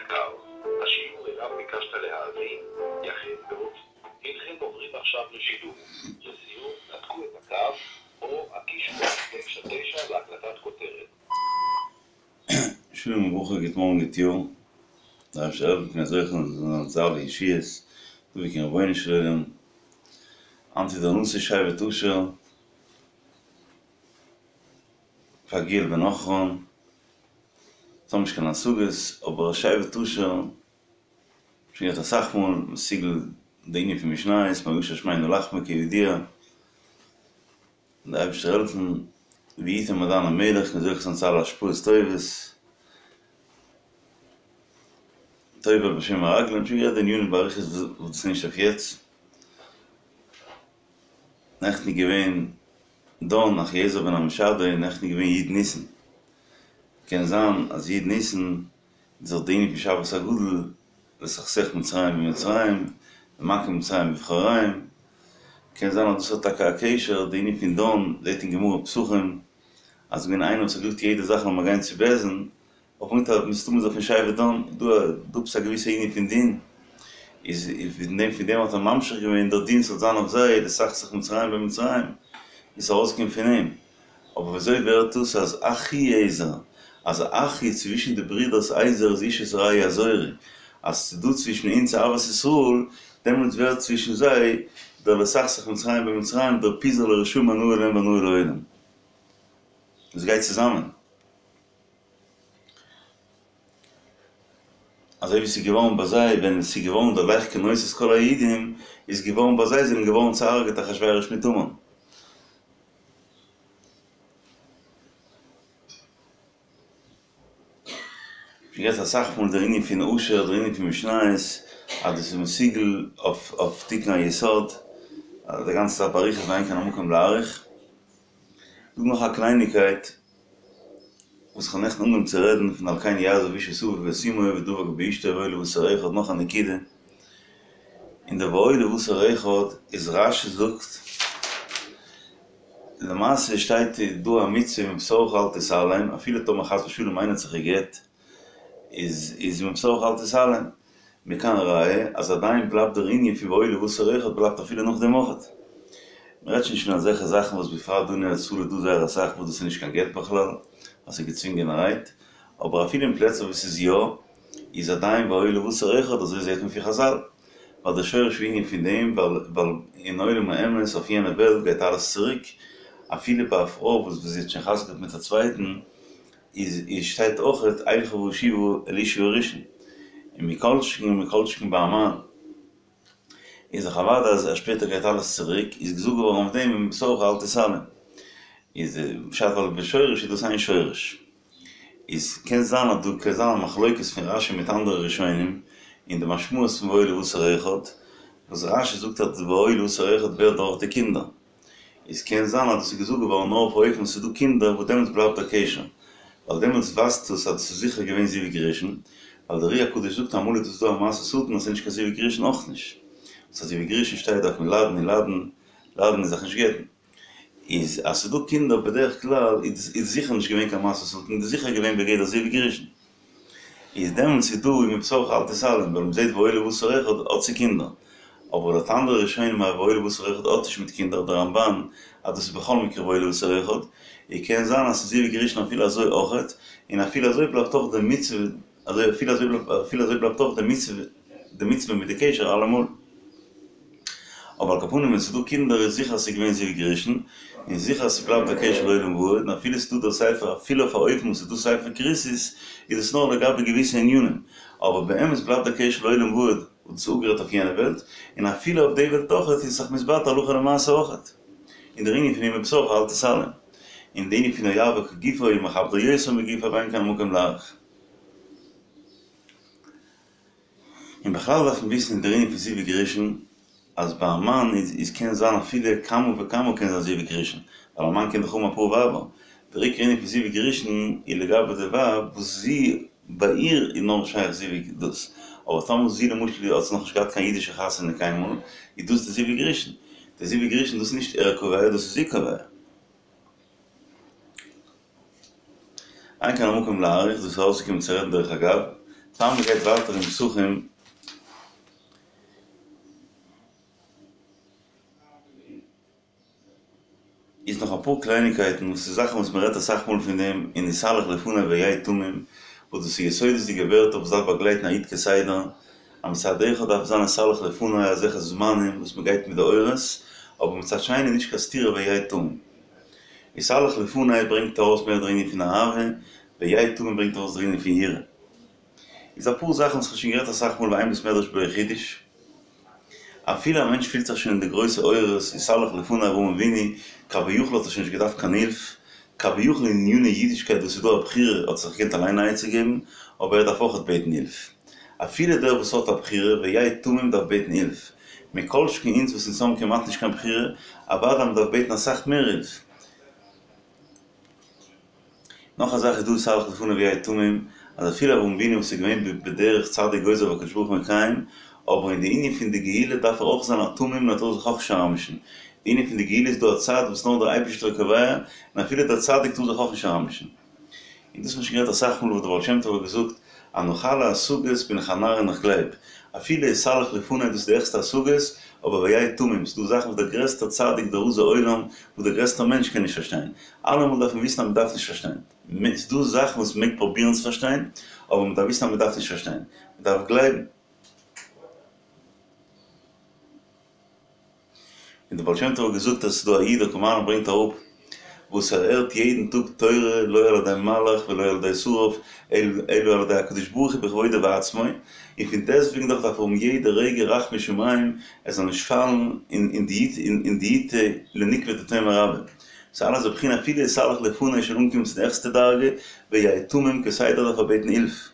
יקר, השיעור אליו ביקשת להאזין יחל בעוד... הנכם עוברים עכשיו לשידור. לסיום, נתקו את הקו או הקישו 99 להקלטת כותרת. שלום וברכה, גוט מארגן, גוט יאר, דער אייבערשטער זאל העלפן מיר זוכה זיין צו אלע ישועות, דבוק אין רבונו של עולם, היינט איז דער נשיא שבט אשר, פגעיאל בן עכרן, אונז האבן נישט קיין השגות, אבער שבט אשר, שוין גערעדט אסאך מאל, מסוגל די ענין פון משניות, מאשר שמנו לחמו כידוע, דער אייבערשטער זאל העלפן, ויתן מעדן המלך, מיר זוכה זיין צו אלע השפעות טובות, טובל בשמן הרגלים, שוין גערעדט די ענינים באריכות וואס דאס איז נישט אויף יעצט, נעכטן איז געווען דן אחיעזר בן עמישדי, נעכטן איז געווען י' ניסן, קען זיין אז י' ניסן איז דאך די ענין פון שבת הגדול, לסכסך מצרים במצרים, ומכה מצרים בבכוריהם, קען זיין אז דאס האט טאקע א קשר, די ענין פון דן, זעהט אין גמרא פסחים, אז ס'געווען איינער וואס האט געזאגט יעדע זאך לאמיר גיין צו בית דין, אויך מיט א מסתמא איז ער פון שבט דן, דא דא עפעס א געוויסע ענין פון דין, איז פון דעם פון דעם האט ער ממשיך געווען דער דין ס'זאל זיין אויף זיי, לסכסך מצרים במצרים, איז ארויסגעקומען פון אים. אבער וויאזוי ווערט דאס אז אחיעזר, אז אחי צווישן די ברידערס עזר איז איש את רעהו יעזורו, אז ס'איז דא צווישן אונז אהבת ישראל, דעמאלטס ווערט צווישן זיי דער לסכסך מצרים במצרים, דער פיזור לרשעים הנאה להם והנאה לעולם. עס גייט צוזאמען. אזוי ווי ס'איז געווארן ביי זיי ווען ס'איז געווארן דער לך כנוס את כל היהודים, איז געווארן ביי זיי זענען געווארן צוהרג'עט אחשורוש מיט המן. שוין גערעדט אסאך מאל דער ענין פון אשר, דער ענין פון משניות, אז דאס איז מסוגל אויף אויף תיקון היסוד, אז די גאנצע זאך באריכות ואין כאן המקום להאריך. דא נאך א קלייניקייט וואס כ'האב נעכטן אנגעהויבן צו רעדן פון על כן יעזוב איש את אביו ואת אמו ודבק באשתו והיו לבשר אחד נאך א נקודה, אין די והיו לבשר אחד איז רש"י זאגט למעשה שטייט דא א מצוה ומבשרך אל תתעלם אפילו טאמער חס ושלום איינער האט זיך גע'גט איז איז ומבשרך אל תתעלם מכאן ראיה אז עדיין בלייבט דער ענין פון והיו לבשר אחד בלייבט אפילו נאך דעם אויכעט. מ'רעדט שוין נישט פון אזעלכע זאכן וואס בפרט דא אין ארץ ישראל איז דא זייער אסאך וואס דאס איז נישט קיין גט בכלל אז ס'איז געצווינגענערהייט אבער אפילו אין פלעצער וואו ס'איז יא איז עדיין והיו לבשר אחד, אזוי זעהט מען פון חזל, ווייל דער שורש הענין פון דעם, ווייל ווייל אין עולם האמת אויף יענע וועלט גייט אלעס צוריק, אפילו ביי א פרוי וואס וואס זי האט שוין חתונה געהאט מיט א צווייטן, איז איז שטייט אויכעט אלכה ואשובה אל אישי הראשון, און מכל שכן ומכל שכן ביי א מאן. איז דאך אוודאי אז שפעטער גייט אלעס צוריק, איז געזאגט געווארן אויף דעם ומבשרך אל תתעלם. איז פשט ווייל בשורש איז דאס איין שורש. איז קען זיין אז דא קען זיין א מחלוקת פון רש"י מיט אנדערע ראשונים אין די משמעות פון והיו לבשר אחד, וואס רש"י זאגט אז והיו לבשר אחד ווערט דורך די קינדער. איז קען זיין אז דאס איז געזאגט געווארן נאר אויף אופן וואס ס'איז דא קינדער וואס דעמאלטס בלייבט דער קשר, ווייל דעמאלטס ווייזט עס אז דאס איז זיכער געווען זיווג ראשון, ווייל דער אר"י הקדוש זאגט אמאל איז דאס דא א מעשה שטן אז ס'איז נישט קיין זיווג ראשון אויך נישט, וואס א זיווג ראשון שטייט דארף מען ליידן און ליידן, ליידן און זיך נישט גט'ן. איז אז ס'איז דא קינדער בדרך כלל איז איז זיכער נישט געווען קיין מעשה שטן, איז זיכער געווען בגדר זיווג ראשון. איז דעמאלטס איז דא ומבשרך אל תתעלם, ווייל מ'זעט והיו לבשר אחד האט צו קינדער. אבער לויט אנדערע ראשונים אז והיו לבשר אחד האט נישט מיט קינדער, דער רמב"ן אז דאס איז בכל מקרה והיו לבשר אחד, איז קען זיין אז ס'איז זיווג ראשון אפילו אזוי אויכעט, און אפילו אזוי בלייבט אויך די מצוה, אזוי אפילו אזוי אפילו אזוי בלייבט אויך די מצוה די מצוה מיט די קשר אלעמאל. אבער על כל פנים ווען ס'איז דא קינדער איז זיכער אז ס'איז געווען זיווג ראשון, און זיכער אז ס'בלייבט א קשר לעולם ועד, און אפילו ס'איז דא דער ספר אפילו אויף א אופן וואס ס'איז דא ספר כריתות איז עס נאר לגבי געוויסע ענינים, אבער באמת בלייבט דער קשר לעולם ועד, וואס דאס איז אפגערעדט אויף יענע וועלט, און אפילו אויף די וועלט אויכעט איז זיך מתבטל הלכה למעשה אויכעט. און דער ענין פון ומבשרך אל תתעלם. און די ענין פון אוהבו כגופו ומכבדו יותר מגופו ואין כאן המקום להאריך. און בכלל דארף מען וויסן אין דער ענין פון זיווג ראשון, אז ביי א מאן איז איז קען זיין אפילו כמה וכמה קען זיין זיווג ראשון, ווייל א מאן קען דאך האבן אפאר ווייבער, דער עיקר ענין פון זיווג ראשון איז לגבי די ווייב וואס זי ביי איר איז נאר שייך זיווג דאס, אבער טאמער זי למשל האט נאכנישט געהאט קיין אידישע חתונה קיינמאל, איז דאס די זיווג ראשון, די זיווג ראשון דאס איז נישט ער קובע דאס איז זי קובע. אין כאן המקום להאריך, דאס איז אויסגעקומען צו רעדן דרך אגב. פאר מען גייט ווייטער אין פסחים, איז נאך אפאר קלייניקייטן וואס איז זאכן וואס מען רעדט אסאך מאל פון דעם אין התהלך לפני והיה תמים, וואס דאס איז יסודות'דיגע ווערטער וואס דארף באגלייטן א איד כסדר, אז מצד אחד דארף זיין התהלך לפני אזעלכע זמנים וואס מען גייט מיט די אורות, אבער מצד שני נישט קיין סתירה והיה תמים. התהלך לפני ברענגט ארויס מער דער ענין פון אהבה, והיה תמים ברענגט ארויס דער ענין פון יראה. איז אפאר זאכן וואס כ'האב שוין גערעדט אסאך מאל ואין בית מדרש בלא חידוש. אפילו א מענטש פילט זיך שוין אין די גרויסע אורות, התהלך לפני אברהם אבינו, כביכול האט ער שוין נישט געדארפט קיין הילף, כביכול אין עניני אידישקייט וואס איז דא א בחירה האט ער זיך געקענט אליין א עצה געבן, אבער ער דארף אויכעט בעטן הילף. אפילו דער וואס האט א בחירה, והיה תמים דארף בעטן הילף. מכל שכן אונז וואס אונז האבן כמעט נישט קיין בחירה, אוודאי מ'דארף בעטן אסאך מער הילף. נאך א זאך איז דא התהלך לפני והיה תמים, אז אפילו אברהם אבינו וואס איז געווען בדרך צדיק גוזר והקדוש ברוך הוא מקיים, אבער אין די ענין פון די גאולה דארף ער אויך זיין א תמים און ער טאר זיך אויך נישט אריינמישן. די ענין פון די גאולה איז דא א צד וואס נאר דער אייבערשטער איז קובע, און אפילו דער צדיק טאר זיך אויך נישט אריינמישן. און דאס האט מען שוין גערעדט אסאך מאל וואס דער בעל שם טוב האט געזאגט אז נאך אלע השגות בין איך א נאר און איך גלייב אפילו התהלך לפני דאס איז די העכסטע השגות, אבער והיה תמים, ס'דא זאכן וואס דער גרעסטער צדיק דער רז העולם, וואס דער גרעסטער מענטש קען נישט פארשטיין. אלעמאל דארף מען וויסן אז מ'דארף נישט פארשטיין. ס'דא זאכן וואס מ'מעג פרובירן צו פארשטיין, אבער מ'דארף וויסן אז מ'דארף נישט פארשטיין. מ'דארף גלייבן. און דער בעל שם טוב האט געזאגט אז ס'איז דא א איד דער קאמארנער ברענגט אראפ וואס ער הערט יעדן טאג תורה לא על ידי מלאך ולא על ידי שרף אלא על ידי הקדוש ברוך הוא בכבודו ובעצמו, און פון דעסטוועגן דאך דארף ער האבן יעדע רגע רחמי שמים ער זאל נישט פאלן אין די לנוקבא דתומר רבה. ס'איז אלעס בבחינה אפילו התהלך לפני שוין אנקומען צו די העכסטע דרגה והיה תמים כסדר דארף ער בעטן הילף.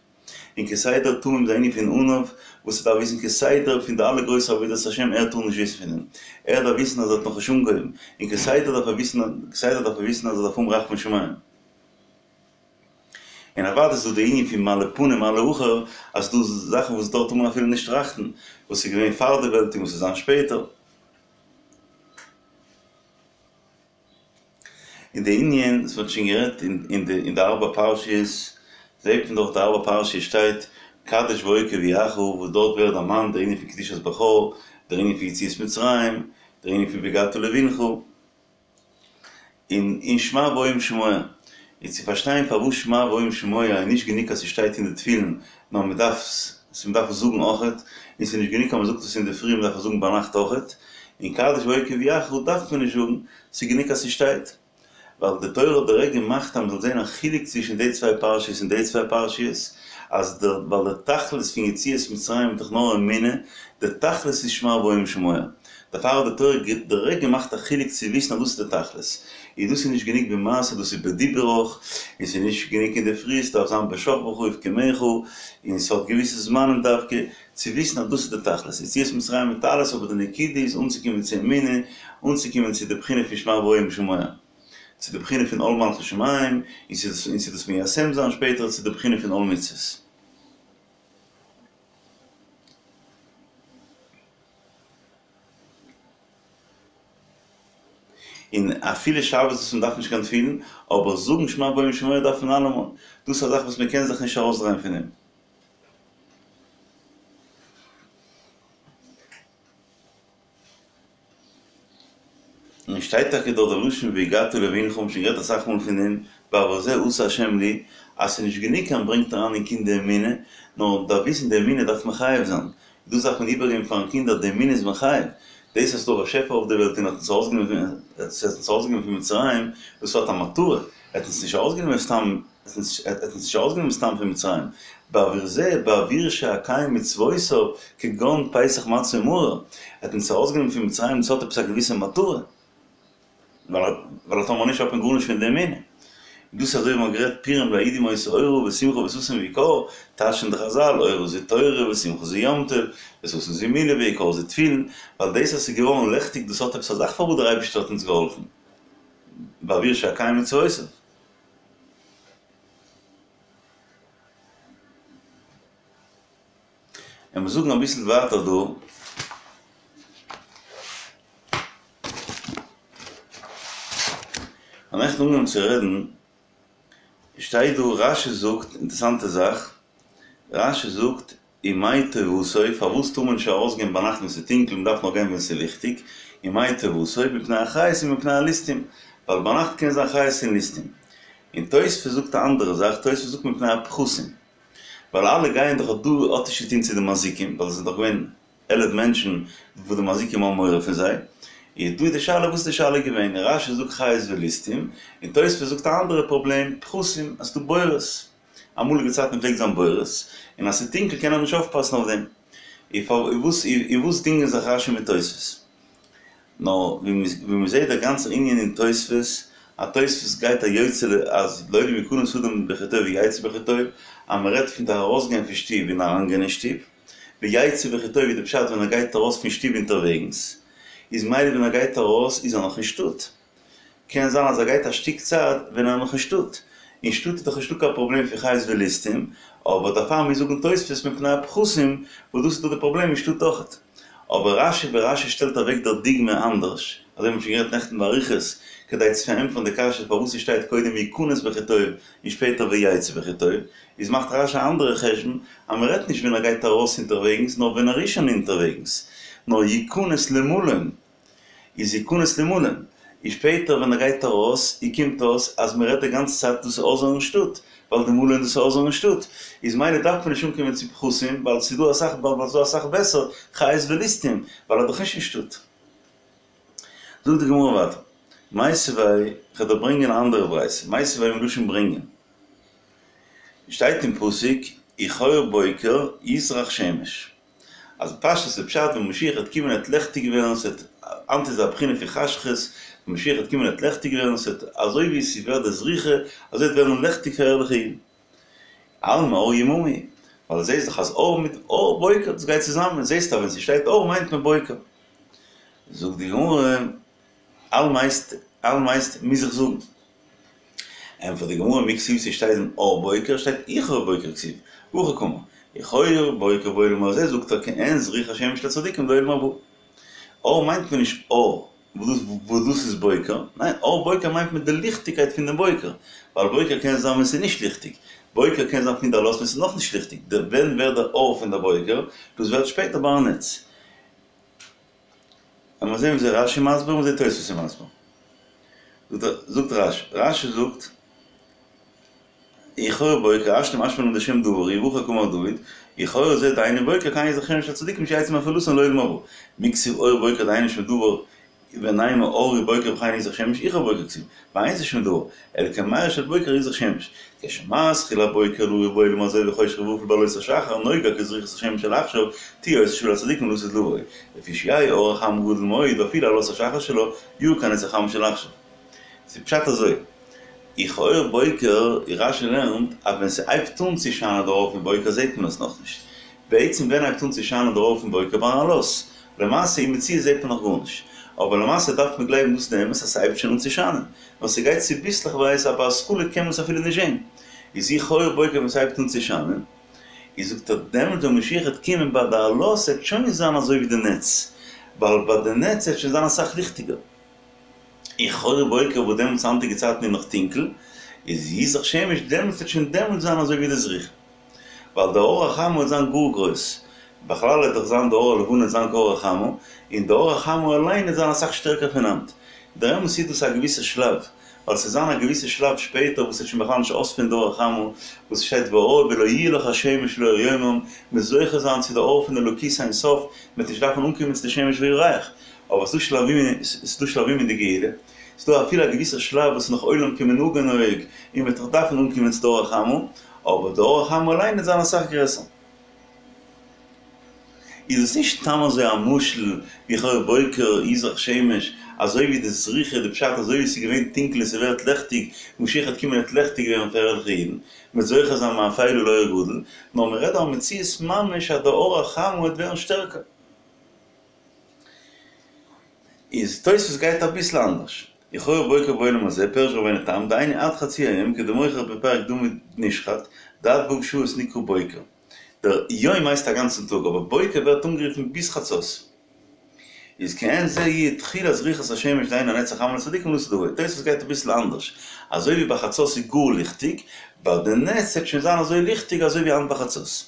און כסדר תמים איז א ענין פון עניו, וואס ער דארף וויסן כסדר פון די אלע גרויסע עבודת השם, ער טאר נישט וויסן פון דעם, ער דארף וויסן אז ער האט נאכנישט אנגעהויבן, און כסדר דארף ער וויסן כסדר דארף ער וויסן אז ער דארף האבן רחמי שמים. און אוודאי איז דא די ענין פון מה לפנים מה לאחור, אז ס'דא זאכן וואס דארט טאר מען אפילו נישט טראכטן, וואס איז געווען פאר די וועלט און וואס וועט זיין שפעטער. און די ענין וואס מ'האט שוין גערעדט אין די אין די ארבע פרשיות, זעט מען דאך די ארבע פרשיות שטייט קדש והיה כי יביאך וואס דארט ווערט דערמאנט דער ענין פון קדושת בכור, דער ענין פון יציאת מצרים, דער ענין פון והגדת לבנך, און און שמע והיה אם שמוע. איז צו פארשטיין פארוואס שמע והיה אם שמוע איז נישט גענוג אז ס'שטייט אין די תפילין, נאר מ'דארף מ'דארף עס זאגן אויכעט, און ס'איז נישט גענוג אז מ'זאגט עס אינדערפרי מ'דארף עס זאגן ביינאכט אויכעט, און קדש והיה כי יביאך דארף מען נישט זאגן, ס'איז גענוג אז ס'שטייט. ווייל די תורה האט דירעקט געמאכט אז מ'זאל זען א חילוק צווישן די צוויי פרשיות און די צוויי פרשיות, אז דער ווייל דער תכלית פון יציאת מצרים איז דאך נאר אמונה, דער תכלית איז שמע והיה אם שמוע. דערפאר האט די תורה דירעקט געמאכט א חילוק צו וויסן אז דאס איז די תכלית. און דאס איז נישט גענוג במעשה דאס איז בדיבור אויך, און ס'איז נישט גענוג אינדערפרי ס'דארף זיין בשכבך ובקומך, און ס'האט געוויסע זמנים דווקא, צו וויסן אז דאס איז די תכלית. יציאת מצרים מיט אלעס אבער די נקודה איז אנצוקומען צו אמונה, אנצוקומען צו די בחינה פון שמע והיה אם שמוע. צו די בחינה פון עול מלכות שמים, און צו דאס מיישם זיין שפעטער צו די בחינה פון עול מצוות. און אפילו שבת וואס מען דארף נישט קיין תפילין, אבער זאגן שמע והיה אם שמוע דארף מען אלעמאל, דאס איז א זאך וואס מען קען זיך נישט ארויסדרייען פון דעם. און שטייט טאקע דארט די לשון והגדת לבנך, האבן שוין גערעדט אסאך מאל פון דעם, בעבור זה עשה ה' לי, אז ס'איז נישט גענוג אז מ'ברענגט אריין אין קינד די אמונה, נאר מ'דארף וויסן די אמונה דארף מחייב זיין, דאס דארף מען איבערגעבן פארן קינד אז די אמונה איז מחייב, דאס אז ס'דא א באשעפער אויף די וועלט און האט אונז ארויסגענומען פון מצרים, דאס האט א מטרה, ער האט אונז נישט ארויסגענומען סתם ער האט אונז נישט ארויסגענומען סתם פון מצרים, בעבור זה בעבור שאקיים מצוותיו כגון פסח מצה ומרור, ער האט אונז ארויסגענומען פון מצרים דאס האט עפעס א געוויסע מטרה, ווייל טאמער נישט האט מען גארנישט פון די אמונה. דאס איז אזוי ווי מ'האט גערעדט פורים ליהודים היתה אורה ושמחה וששון ויקר, טייטשן די חזל אורה זו תורה ושמחה זו יום טוב, וששון זו מילה ויקר זו תפילין, ווייל דאס אז ס'איז געווארן לעכטיג דאס האט עפעס א זאך פארוואס דער אייבערשטער האט אונז געהאלפן, בעבור שאקיים מצוותיו. און מיר זאגן אביסל ווייטער דא. כ'האב נעכטן אנגעהויבן צו רעדן, שטייט דא רש"י זאגט, אינטערעסאנטע זאך. רש"י זאגט ומאי טובתו, פארוואס טאר מען נישט ארויסגיין ביינאכט ווען ס'איז טונקל, מ'דארף נאר גיין ווען ס'איז ליכטיג, ומאי טובתו, מפני החיות ומפני הליסטים, ווייל ביינאכט קען זיין חיות און ליסטים. און תוספות זאגט א אנדערע זאך, תוספות זאגט מפני הפחתים, ווייל אלע גייען דאך דא האט נישט צוטון צו די מזיקים, ווייל עס זענען דאך געווען 11 מענטשן וואס די מזיקים האבן מורא פון זיי, איז דא די שאלה וואס איז די שאלה געווען, רש"י זאגט חיות וליסטים, און תוספות זאגט א אנדערע פראבלעם, פחתים, אז ס'דא בורות, אמאליגע צייטן פלעגט זיין בורות, און אז ס'איז טונקל קען ער נישט אויפפאסן אויף דעם. איז וואס דינגען זיך רש"י מיט תוספות? נאר ווי מ'זעט דער גאנצער ענין אין תוספות, אז תוספות גייט א יוצא ל אז לעולם יכנס אדם בכי טוב ויצא בכי טוב, אז מ'רעדט פון די ארויסגיין פון שטוב און אריינגיין אין שטוב, ויצא בכי טוב איז די פשט ווען ער גייט ארויס פון שטוב אונטערוועגנס, איז מילא ווען ער גייט ארויס איז ער נאך אין שטאט, קען זיין אז ער גייט א שטיק צייט ווען ער איז נאך אין שטאט, אין שטאט איז דאך נישטא קיין פראבלעם פון חיות וליסטים, אבער דערפאר מוז זאגן תוספות מפני הפחתים, וואס דאס איז דאך די פראבלעם אין שטאט אויכעט. אבער רש"י ווי רש"י שטעלט אוועק דער דוגמא אנדערש, אזוי האבן מיר שוין גערעדט נעכטן באריכות, כדי צו פארענטפערן די קשיא פארוואס עס שטייט קודם יכנס בכי טוב און שפעטער ויצא בכי טוב, איז מאכט רש"י א אנדערע חשבון אז מען רעדט נישט ווען ער גייט ארויס אונטערוועגנס נאר ווען ער איז שוין אונטערוועגנס, נאר יכנס למלון. איז יכנס למלון, און שפעטער ווען ער גייט ארויס, און קומט אויס אז מען רעדט די גאנצע צייט דאס איז אויסערן שטאט, ווייל די מלון דאס איז אויסערן שטאט, איז מילא דארף מען נישט אנקומען צו פחתים, ווייל ס'איז דא אסאך ווייל ס'איז דא אסאך בעסער חיות וליסטים, ווייל ער איז דאך נישט אין שטאט. זאגט די גמרא ווייטער, מיתיבי, כ'וועל דיר ברענגען א אנדערע ברייתא, מיתיבי מלשון ברענגען, שטייט אין פסוק, וכאור בוקר יזרח שמש. אז פשטות איז פשט ווען משיח וועט קומען וועט לעכטיג ווערן ס'וועט היינט איז א בחינה פון חשכות, ווען משיח וועט קומען וועט לעכטיג ווערן ס'וועט אזוי ווי ס'ווערט די זריחה אזוי וועט ווערן לעכטיג פאר ערליכע אידן. אלמא אור יממא הוא, ווייל זעהסט דאך אז אור מיט אור בוקר דאס גייט צוזאמען, זעהסט אז ווען ס'שטייט אור מיינט מען בוקר. זאגט די גמרא, אלמא הייסט אלמא הייסט מוז איך זאגן. ענטפערט די גמרא מי כתיב ס'שטייט דען אור בוקר שטייט וכאור בוקר כתיב והכי קאמר וכאור בוקר בעולם הזה זאגט ער כעין זריחת השמש לצדיקים לעולם הבא אור מיינט מען נישט אור וואס דאס איז בוקר ניין אור בוקר מיינט מען די ליכטיגקייט פון דעם בוקר ווייל בוקר קען זיין ווען ס'איז נישט ליכטיג בוקר קען זיין פון די עלות ווען ס'איז נאכנישט ליכטיג ווען ווערט דער אור פון דער בוקר דאס ווערט שפעטער ביי א נץ. לאמיר זעהן וויאזוי רש"י מסביר און וויאזוי תוספות איז מסביר. זאגט רש"י, רש"י זאגט, וכאור בוקר השתא משמע לן דשם דבר הוא והכי קאמר דוד, וכאור זה דהיינו בוקר כן יזרח שמש לצדיקים שיצאו מאפלתן לעולם הבא. מי כתיב אור בוקר דהיינו שם דבר ונימא אור בוקר וכן יזרח שמש וכאור בוקר כתיב, ואין זה שם דבר, אלא כמארה של בוקר יזרח שמש. כשמתחיל הבוקר להאיר בעולם הזה וחושך וערפל בעלות השחר נוגה כזריחת השמש של עכשיו תהיה אותה שעה לצדיקים לעתיד לבוא לפי שיהא אור החמה גדול מאוד ואפילו עלות השחר שלו יאיר כנץ החמה של עכשיו. ס'איז פשט אזוי, וכאור בוקר, רש"י לערנט אז ווען ס'הייבט אן צו שיינען דער אור פון בוקר זעהט מען עס נאכנישט. בעצם ווען הייבט אן צו שיינען דער אור פון בוקר? ביים עלות. למעשה אין מציאות זעהט מען נאך גארנישט. אבער למעשה דארף מען גלייבן דאס איז די אמת אז ס'הייבט שוין אן צו שיינען. נאר ס'גייט צוביסלעכווייז אבער התחלה קען מען עס אפילו נישט זעהן. איז וכאור בוקר ווען ס'הייבט אן צו שיינען. איז זאגט ער דעמאלט ווען משיח וועט קומען ביי די עלות וועט שוין זיין אזוי ווי די נץ. ווייל ביי די נץ וועט שוין זיין אסאך ליכטיגער. וכאור בוקר וואס דעמאלטס היינטיגע צייטן איז נאך טונקל. איז יזרח שמש דעמאלטס וועט שוין דעמאלטס זיין אזוי ווי די זריחה. ווייל די אור החמה וועט זיין גאר גרויס, בכלל וועט דאך זיין די אור הלבנה וועט זיין כאור החמה, און די אור החמה אליין וועט זיין אסאך שטערקער פון היינט. דער אמת איז דאס א געוויסע שלב, ווייל ס'וועט זיין א געוויסע שלב שפעטער וואס וועט שוין בכלל נישט אויספעלן די אור החמה, וואס ס'שטייט והיה ולא יהיה לך שמש לאור יומם, מ'וועט זוכה זיין צו די אור פון אלוקות אין סוף, מ'וועט נישט דארפן אנקומען צו די שמש וירח. אבער ס'איז דא שלבים אין די גאולה. ס'דא אפילו א געוויסע שלב וואס איז נאך עולם כמנהגו נוהג און מ'וועט נאך דארפן אנקומען צו די אור החמה, אבער די אור החמה אליין וועט זיין אסאך גרעסער. איז עס נישט סתם אזוי א משל וכאור בוקר יזרח שמש, אזוי ווי די זריחה די פשט אזוי ווי ס'איז געווען טונקל און ס'ווערט לעכטיג, משיח וועט קומען וועט לעכטיג ווערן פאר ערליכע אידן, מ'וועט זוכה זיין מאפילה לאור גדול, נאר מ'רעדט דא א מציאות ממש אז די אור החמה וועט ווערן שטערקער. איז תוספות גייט אביסל אנדערש, וכאור בוקר בעולם הזה, פירש רבינו תם, דהיינו עד חצי היום, כדמוכיח בפרק דמים נשחט, דעד ו' שעות נקרא בוקר. דער יום הייסט א גאנצן טאג, אבער בוקר ווערט אנגערופן ביז חצות. איז כעין זה יהיה תחילת זריחת השמש דהיינו הנץ החמה לצדיקים לעתיד לבוא. תוספות גייט אביסל אנדערש, אזוי ווי ביי חצות איז גאר ליכטיג, ביי די נץ וועט שוין זיין אזוי ליכטיג אזוי ווי היינט ביי חצות.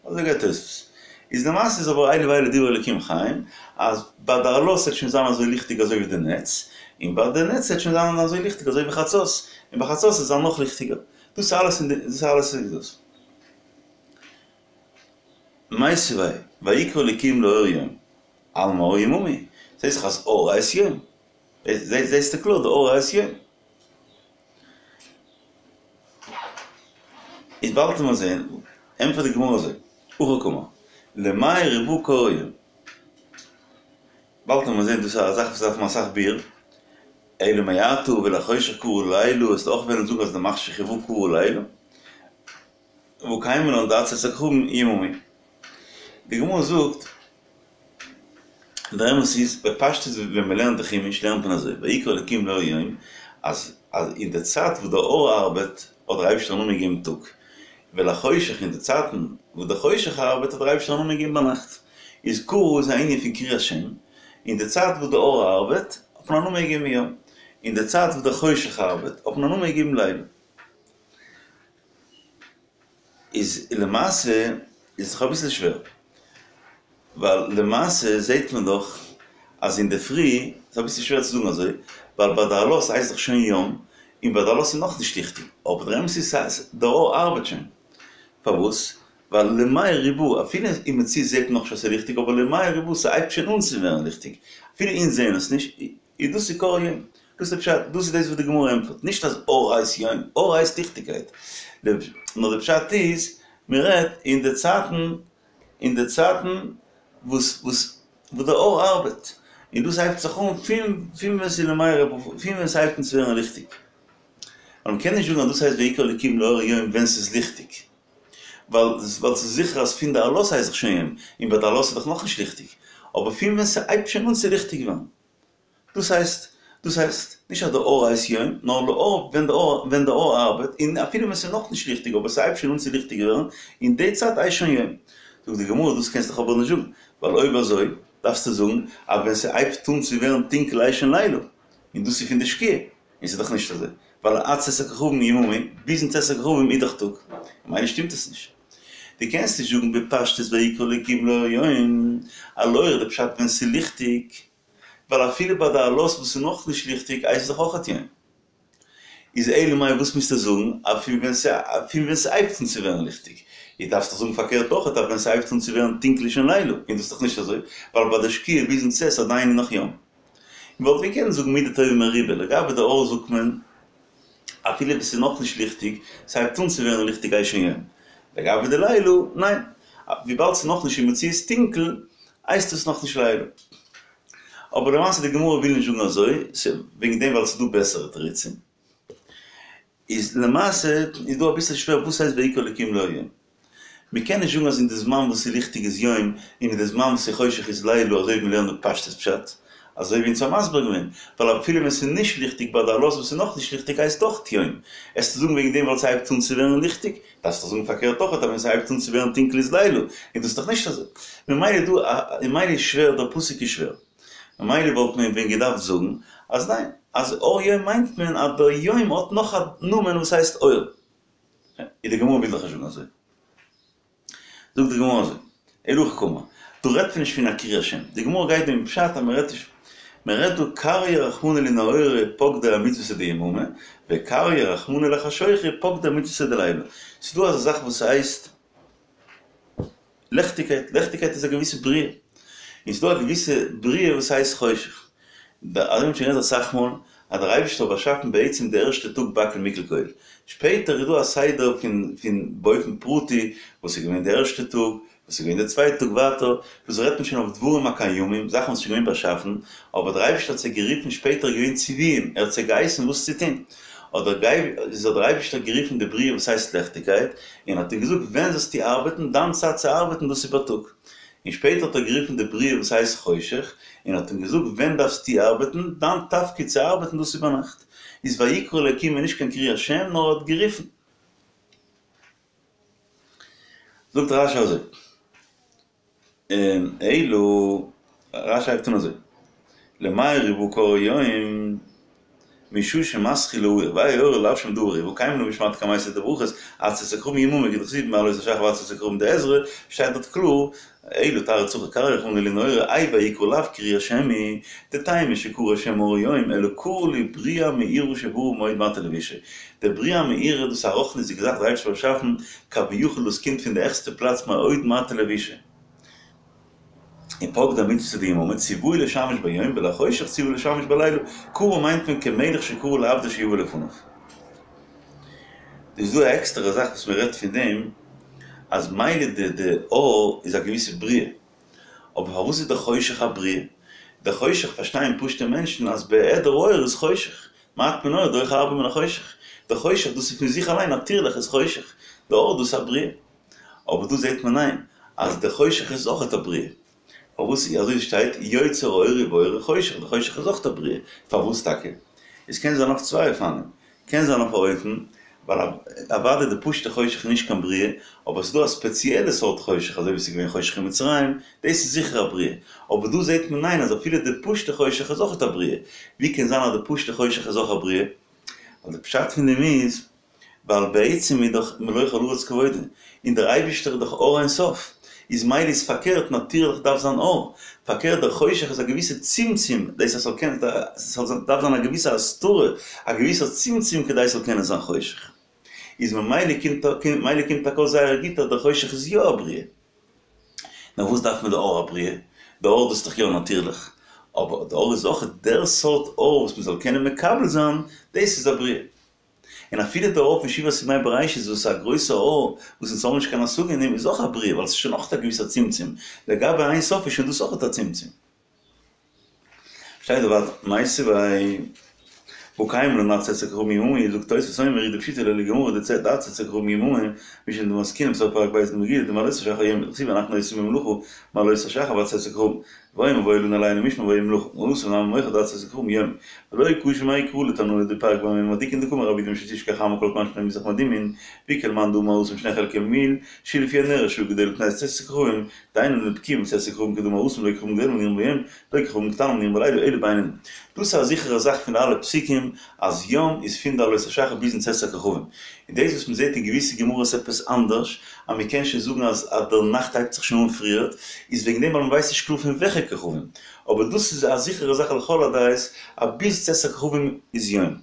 אזוי גייט תוספות. איז למעשה איז אבער אלו ואלו דברי אלוקים חיים, אז ביי די עלות וועט שוין זיין אזוי ליכטיג אזוי ווי די נץ, און ביי די נץ וועט שוין זיין אזוי ליכטיג אזוי ווי חצות, און ביי חצות וועט זיין נאך ליכטיגער. דאס איז אלעס אין די, דאס איז אלעס אין דאס. מיתיבי, ויקרא אלוקים לאור יום, אלמא אור יממא הוא. זעהסט דאך אז אור הייסט יום. זעהסטו קלאר די אור הייסט יום. איז באלד וועט מען זעהן, ענטפערט די גמרא אזוי, הכי קאמר, למאי ריבאה קרא יום. באלד וועט מען זעהן דאס איז א זאך וואס דארף מען אסאך ביאור, אלא מעתה ולחושך קרא לילה, וועסטו אויך וועלן זאגן אז למחשך ריבאה קרא לילה? והא קיימא לן דעד צאת הכוכבים יממא. די גמרא זאגט, דער אמת איז, בפשטות ווען מען לערנט די חומש לערנט מען אזוי, ויקרא אלקים לאור יום, אז אז אין די צייט וואס די אור ארבעט האט דער אייבערשטער א נאמען געגעבן טאג, ולחושך אין די צייטן וואס די חושך ארבעט האט דער אייבערשטער א נאמען געגעבן ביינאכט. איז קרא איז א ענין פון קריאת שם, אין די צייט וואס די אור ארבעט האט מען א נאמען געגעבן יום, אין די צייט וואס די חושך ארבעט האט מען א נאמען געגעבן לילה. איז למעשה איז דאך אביסל שווער, ווייל למעשה זעהט מען דאך אז אינדערפרי, ס'איז אביסל שווער צו זאגן אזוי, ווייל ביי די עלות הייסט דאך שוין יום, און ביי די עלות איז נאכנישט ליכטיג, אבער דער אמת איז אז די אור ארבעט שוין. פארוואס? ווייל למאי ריבאה, אפילו אין מציאות זעהט מען נאכנישט אז ס'איז ליכטיג, אבער למאי ריבאה ס'הייבט שוין אן צו ווערן ליכטיג, אפילו אונז זעהן עס נישט, איז דאס איז קרא יום. דאס איז פשט, דאס איז דאס וואס די גמרא ענטפערט, נישט אז אור הייסט יום, אור הייסט ליכטיגקייט, נאר די פשט איז, מען רעדט אין די צייטן, אין די צייטן וואס וואס וואס די אור ארבעט, און דאס הייבט זיך אן פון פון ווען ס'איז למאי ריבאה, פון ווען ס'הייבט אן צו ווערן ליכטיג. ווייל מ'קען נישט זאגן אז דאס הייסט ויקרא אלקים לאור יום ווען ס'איז ליכטיג, ווייל ווייל ס'איז זיכער אז פון די עלות הייסט דאך שוין יום, און ביי די עלות איז דאך נאכנישט ליכטיג, אבער פון ווען ס'הייבט שוין אן צו ליכטיג ווערן. דאס הייסט, דאס הייסט, נישט אז די אור הייסט יום, נאר לאור ווען די אור, ווען די אור ארבעט, און אפילו ווען ס'איז נאכנישט ליכטיג אבער ס'הייבט שוין אן צו ליכטיג ווערן, אין די צייט הייסט שוין יום. זאגט די גמרא, דאס קענסט דאך אבער נישט זאגן, ווייל אויב אזוי דארפסטו זאגן אז ווען ס'הייבט אן צו ווערן טונקל הייסט שוין לילה, און דאס איז פון די שקיעה, און ס'איז דאך נישט אזוי, ווייל עד צאת הכוכבים יממא, ביזן צאת הכוכבים איז דאך טאג, ממילא שטימט עס נישט. דו קענסט נישט זאגן בפשטות ויקרא אלקים לאור יום, אז לאור די פשט ווען ס'איז ליכטיג, ווייל אפילו ביי די עלות וואס איז נאכנישט ליכטיג הייסט עס דאך אויכעט יום. איז אלא מאי וואס מוזטו זאגן אז פון ווען פון ווען ס'הייבט אן צו ווערן ליכטיג? איז דארפסט דאך זאגן פארקערט אויכעט אז ווען ס'הייבט אן צו ווערן טונקל איז שוין לילה, און דאס איז דאך נישט אזוי, ווייל ביי די שקיעה ביזן צאת עדיין איז נאך יום. מ'וואלט געקענט זאגן מידה טובה מרובה, לגבי די אור זאגט מען אפילו ווען ס'איז נאכנישט ליכטיג, ס'הייבט אן צו ווערן ליכטיג הייסט שוין יום. לגבי די לילה, ניין, וויבאלד ס'איז נאכנישט אין מציאות טונקל, הייסט עס נאכנישט לילה. אבער למעשה די גמרא וויל נישט זאגן אזוי, וועגן דעם ווייל ס'איז דא בעסערע תירוצים. איז למעשה איז דא אביסל שווער וואס הייסט ויקרא אלקים לאור יום? מ'קען נישט זאגן אז אין די זמן וואס ס'איז ליכטיג איז יום און אין די זמן וואס ס'איז חושך איזלילה אזוי ווי מ'לערנט די פשטות פשט, אזוי ווי אונז האבן מסביר געווען, ווייל אפילו ווען ס'איז נישט ליכטיג ביי די עלות וואס איז נאכנישט ליכטיג הייסט אויך יום. עסטו זאגן וועגן דעם ווייל ס'הייבט אן צו ווערן ליכטיג, דארפסט דאך זאגן פארקערט אויך אז ווען ס'הייבט אן צו ווערן טונקל איז לילה, און דאס איז דאך נישט אזוי. ממילא דא ממילא איז שווער, דער פסוק איז שווער. ממילא וואלט מען ווען געדארפט זאגן אז ניין, אז אור יום מיינט מען אז דער יום האט נאך א נאמען וואס הייסט אור. איז די גמרא וויל דאך נישט זאגן אזוי. זאגט די גמרא אזוי, אלא הכי קאמר, דא רעדט מען נישט פון א קריאת שם, די גמרא גייט דא אין פשט אז מען רעדט נישט, מען רעדט דא קרייה רחמנא לנהורא פקדי אמצוותא דיממא, וקרייה רחמנא לחשוכא פקדי אמצוותא דליליא. ס'איז דא אזא זאך וואס הייסט לעכטיגקייט, לעכטיגקייט איז א געוויסע בריאה, און ס'איז דא א געוויסע בריאה וואס הייסט חושך. אזוי האט מען שוין גערעדט אסאך מאל, אז דער אייבערשטער האט באשאפן בעצם די ערשטע טאג בכל מקל כל, שפעטער איז דא א סדר פון פון באופן פרטי וואס איז געווען די ערשטע טאג, וואס איז געווען די צווייטע טאג ווייטער, דאס רעדט מען שוין אויף דברים הקיימים, זאכן וואס איז שוין געווען באשאפן, אבער דער אייבערשטער האט זיי גערופן שפעטער איז געווען ציוויים, ער האט זיי געהייסן וואס צו טון, האט דער אייבערשטער גערופן די בריאה וואס הייסט לעכטיגקייט, און האט אים געזאגט ווען זאלסטו ארבעטן, דיין צייט צו ארבעטן דאס איז בייטאג. און שפעטער האט ער גערופן די בריאה וואס הייסט חושך, און האט אים געזאגט ווען דארפסטו ארבעטן, דיין תפקיד צו ארבעטן דאס איז ביינאכט. איז ויקרא אלקים איז נישט קיין קריאת שם נאר ער האט גערופן. זאגט רש"י אזוי, אלא, רש"י הייבט אן אזוי, למאי ריבאה קרא יום? משעה שמתחיל להאיר, והאי אורא לאו שום דבר הוא, והא קיימא לן בשמעתא קמייתא דברכות, עד צאת הכוכבים יממה כדכתיב מעלות השחר ועד צאת הכוכבים דעזרא, שטייט דארט קלאר, אלא תרעא צחי קריא רחמנא לינהו אורא, האי ויקרא לאו קריאת שם היא, דטעמא שקרא שם אור יום, אלא קרי להו בריאה מאירה שברא מאד מטה לבושיה. די בריאה מאירה דאס איז א רוחניות'דיגע זאך דער אייבערשטער האט באשאפן כביכול דאס קומט פון די העכסטע פלאץ מאוד מטה לבושיה. און פקדי מצוותא דיממא ציוהו לשמש ביום ולחושך ציוהו לשמש בלילה, קרא מיינט מען כמלך שקרא לעבדו שיבא לפניו. איז דא א עקסטערע זאך וואס מען רעדט פון דעם אז מילא די די אור איז א געוויסע בריאה, אבער פארוואס איז די חושך א בריאה? די חושך פארשטייען פשוטע מענטשן אז בהיעדר אור איז חושך, מעט מן האור דוחה הרבה מן החושך, די חושך דאס איז פון זיך אליין נאטירליך איז חושך, די אור דאס איז א בריאה. אבער דא זעט מען ניין אז די חושך איז אויכעט א בריאה. פארוואס אזוי שטייט יוצר אור ובורא חושך, די חושך איז אויכעט א בריאה, פארוואס טאקע? עס קען זיין אויף צוויי אופנים, קען זיין אויף א אופן ווייל אוודאי די פשוטע חושך איז נישט קיין בריאה, אבער עס איז דא א ספעציעלע סארט חושך אזוי ווי עס איז געווען חושך אין מצרים, דאס איז זיכער א בריאה, אבער דא זעט מען ניין אז אפילו די פשוטע חושך איז אויכעט א בריאה, ווי קען זיין אז די פשוטע חושך איז אויך א בריאה? ווייל די פשט פון דעם איז ווייל בעצם איז דאך מלא כל הארץ כבודו, און דער אייבישטער איז דאך אור אין סוף, איז מילא איז פארקערט נאטירליך דארף זיין אור, פארקערט דער חושך איז א געוויסע צמצום, דאס אז ס'זאל קענען, ס'זאל דארף זיין א געוויסע הסתרה, א געוויסער צמצום כדי ס'זאל קענען זיין חושך. איז ממילא קומט מילא קומט טאקע אויס זייער גוט אז דער חושך איז יא א בריאה. נאר וואס דארף מען די אור הבריאה? די אור דאס איז דאך יא נאטירליך, אבער די אור איז אויך דער סארט אור וואס מ'זאל קענען מקבל זיין, דאס איז א בריאה. און אפילו דער אור פון שבעת ימי בראשית וואס איז א גרויסע אור וואס אונז האבן נישט קיין השגה אין דעם איז אויך א בריאה ווייל עס איז שוין אויך א געוויסע צמצום, לגבי אין סוף איז שוין דאס אויך א צמצום. שטייט דא ווייטער מיתיבי והא קיימא לן עד צאת הכוכבים יממה זאגט תוספות אומר הוא דפשיטא ליה לגמרא דעד צאת הכוכבים יממה משום דמתקינן בסוף פרק ב' דמגילה דמעלות השחר יום דכתיב אנחנו עושים במלאכה מעלות השחר ועד צאת הכוכבים ואומר והיה לנו לילה משמר והיה מלאכה התם נמי מוכח דעד צאת הכוכבים יום ולא קשיא מאי קרא לתנאי דפרק במה מדליקין דקאמר רב יהודה משום תשכח חמה כל זמן שפני מזרח מאדימין ואיכא למאן דאמר התם שני חלקי מיל שלפי הנראה שעה גדולה מפני צאת הכוכבים דהיינו לבקיעה מצאת הכוכבים כדאמר התם לא כוכבים גדולים הנראים ביום לא כוכבים קטנים הנראים בלילה אלא בינונים דאס איז א זיכערע זאך פון אלע פסוקים אז יום איז פון די עלות השחר ביזן צאת הכוכבים און דאס וואס מ'זעט אין געוויסע גמרות עפעס אנדערש אז מ'קען שוין זאגן אז אז דער נאכט הייבט זיך שוין אן פריערט, איז וועגן דעם ווייל מ'ווייסט נישט קלאר פון וועלכע כוכבים, אבער דאס איז א זיכערע זאך לכל הדעות אז ביז צאת הכוכבים איז יום.